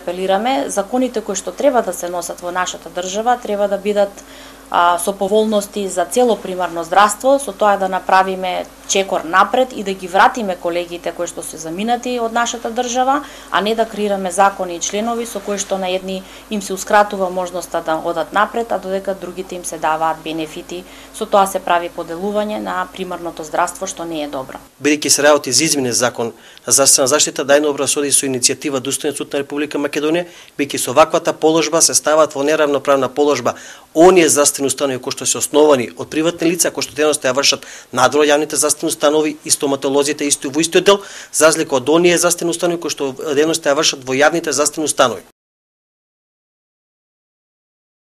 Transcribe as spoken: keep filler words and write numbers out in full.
Апелираме законите кои што треба да се носат во нашата држава треба да бидат а, со поволности за цело примарно здравство, со тоа да направиме чекор напред и да ги вратиме колегите кои што се заминати од нашата држава, а не да креираме закони и членови со кои што на едни им се ускратува можноста да одат напред, а додека другите им се даваат бенефити. Со тоа се прави поделување на примарното здравство што не е добро. Бидејќи се работи за изменен закон за здравствена заштита, најдобро соди со иницијатива Достоен суд на Република Македонија, бидејќи со ваквата положба се стават во неравноправна положба оние здравствени установи кои што се основани од приватни лица кои што денеска ја вршат надвор јавните здравствени установи и стоматолозите исто во истиот дел, за разлика од оние здравствени установи кои што денеска ја вршат во јавните здравствени установи.